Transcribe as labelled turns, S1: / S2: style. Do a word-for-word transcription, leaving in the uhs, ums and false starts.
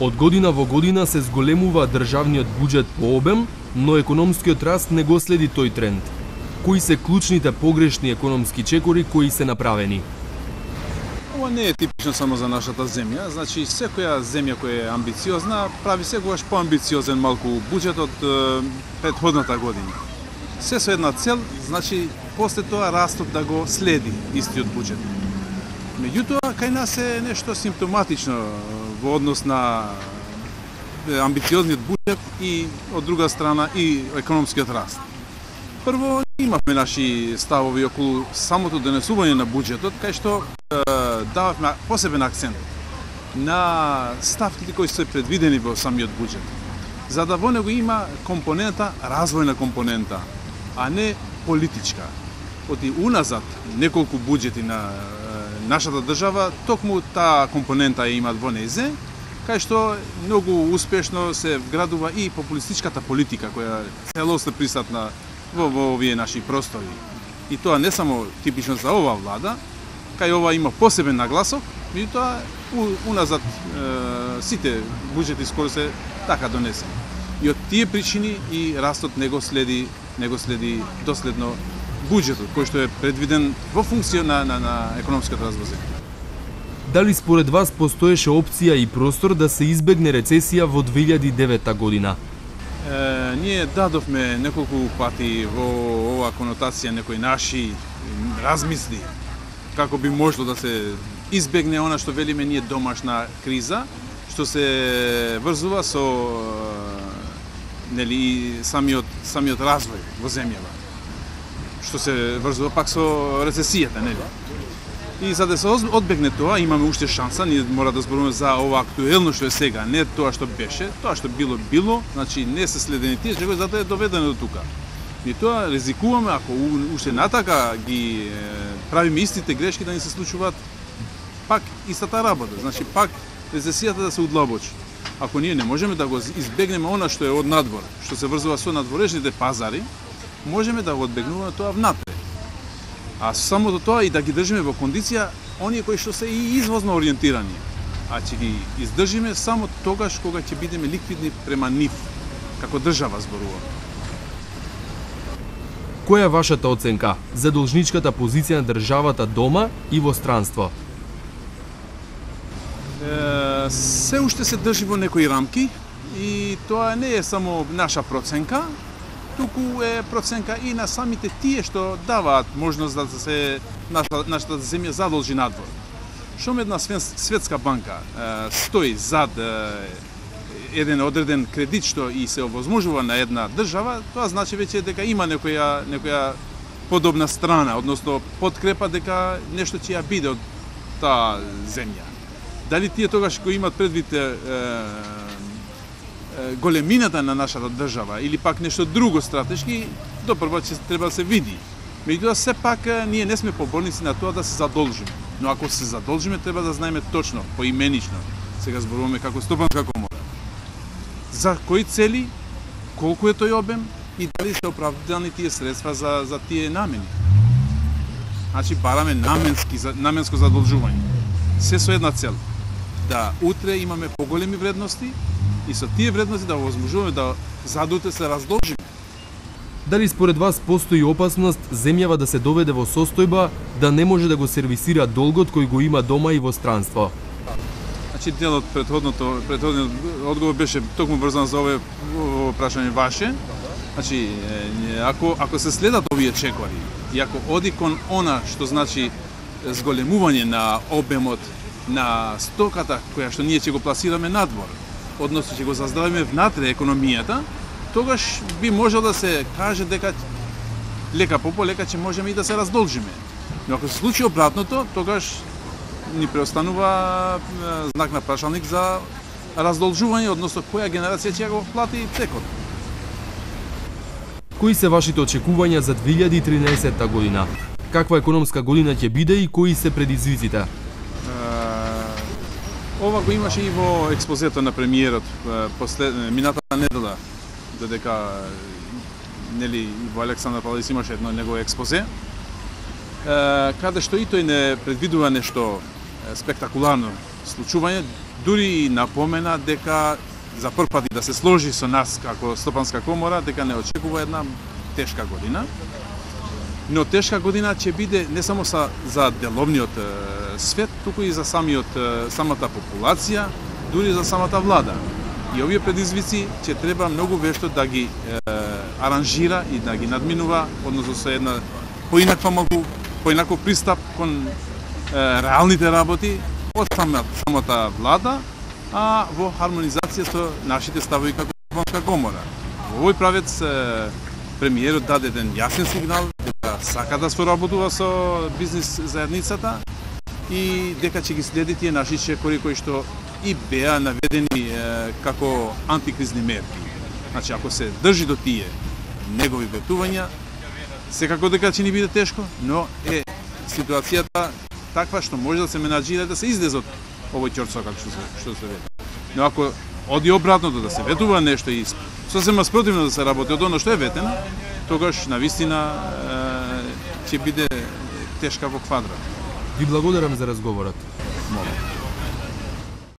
S1: Од година во година се зголемува државниот буџет по обем, но економскиот раст не го следи тој тренд. Кои се клучните погрешни економски чекори кои се направени?
S2: Ова не е типично само за нашата земја, значи секоја земја која е амбициозна прави секогаш поамбициозен малку буџет од е, претходната година. Се со една цел, значи после тоа растот да го следи истиот буџет. Меѓутоа, кај нас е нешто симптоматично во однос на амбициозниот буџет и од друга страна и економскиот раст. Прво, имавме наши ставови околу самото донесување на буџетот, кај што е, дававме посебен акцент на ставките кои се предвидени во самиот буџет, за да во него има компонента, развојна компонента, а не политичка. Оти уназад неколку буџети на нашата држава, токму таа компонента ја имат во незе, кај што многу успешно се вградува и популистичката политика која целосно присутна во, во овие наши простори. И тоа не само типично за оваа влада, кај ова има посебен нагласок, меѓутоа уназад е, сите буџети скоро се така донесени. И од тие причини и растот не го следи, не го следи доследно буџетот кој што е предвиден во функција на, на, на економската развој.
S1: Дали според вас постоеше опција и простор да се избегне рецесија во две илјади и девета година?
S2: Е, ние дадовме неколку пати во оваа конотација некои наши размисли како би можело да се избегне она што велиме ние домашна криза, што се врзува со нели самиот самиот развој во земјава, што се врзува пак со рецесијата, нели? И за да се одбегне тоа, имаме уште шанса, ние мора да зборуваме за ова актуелно што е сега, не тоа што беше, тоа што било било, значи не се следени тие, што затоа е доведено до тука. И тоа ризикуваме ако уште натака ги правиме истите грешки да ни се случуваат пак истата работа, значи пак рецесијата да се удлабочи. Ако ние не можеме да го избегнеме она што е од надвор, што се врзува со надворешните пазари, можеме да го одбегнуваме тоа внатре. А самото тоа и да ги држиме во кондиција оние кои што се и извозно ориентирани, а ќе ги издржиме само тогаш кога ќе бидеме ликвидни према нив, како држава зборувам.
S1: Која е вашата оценка за должничката позиција на државата дома и во странство?
S2: Е, се уште се држи во некои рамки и тоа не е само наша проценка, туку е проценка и на самите тие што даваат можност да се наша, нашата земја задолжи надвор. Шом една светска банка е, стои зад е, еден одреден кредит што и се овозможува на една држава, тоа значи веќе дека има некоја некоја подобна страна, односно подкрепа дека нешто ќе ја биде од таа земја. Дали тие тогаш кои имат предвид е, големината на нашата држава или пак нешто друго стратешки, допрво ќе треба да се види. Меѓутоа сепак ние не сме поборници на тоа да се задолжиме. Но ако се задолжиме треба да знаеме точно, поименично. Сега зборуваме како стопанска комора. За кои цели, колку е тој обем и дали се оправдани тие средства за за тие намени. Значи бараме наменски наменско задолжување. Се со една цел, да утре имаме поголеми вредности и со тие вредности да овозможуваме да задуте се раздолжиме.
S1: Дали според вас постои опасност земјава да се доведе во состојба да не може да го сервисира долгот кој го има дома и во странство?
S2: Значи дел од претходното претходниот одговор беше токму врзан за овое прашање ваше. Значи ако ако се следат овие чекори и ако оди кон она што значи зголемување на обемот на стоката која што ние ќе го пласираме надвор, односно ќе го заздравиме внатре економијата, тогаш би можел да се каже дека лека по полека ќе можеме и да се раздолжиме. Но ако се случи обратното, тогаш ни преостанува знак на прашалник за раздолжување, односно која генерација ќе го плати текот.
S1: Кои се вашите очекувања за две илјади и тринаесетта година? Каква економска година ќе биде и кои се предизвиците?
S2: Ова го имаше и во експозето на премиерот послед минатата недела, додека нели во Александар Павлович имаше едно негово експозе, каде што и тој не предвидува нешто спектакуларно случување, дури и напомена дека за прв пат да се сложи со нас како Стопанска комора, дека не очекува една тешка година. Но тешка година ќе биде не само за, за деловниот е, свет, туку и за самиот, е, самата популација, дури за самата влада. И овие предизвици ќе треба многу вешто да ги е, аранжира и да ги надминува, односно со една поинаква малку, поинаков пристап кон е, реалните работи од самата, самата влада, а во хармонизација со нашите ставови како Стопанска комора. Во овој правец е, премиерот даде еден јасен сигнал дека сака да соработува со бизнис заедницата и дека ќе ги следи тие наши чекори кои што и беа наведени е, како антикризни мерки. Значи, ако се држи до тие негови ветувања, секако дека ќе ни биде тешко, но е ситуацијата таква што може да се менаџира да се излезе од овој ќорцо како што се, што се ветува. Но ако оди обратното да се ветува нешто и сосема спротивно да се работи од оно што е ветено, тогаш навистина ќе биде тешка во квадрат.
S1: Ви благодарам за разговорот.
S2: Молам.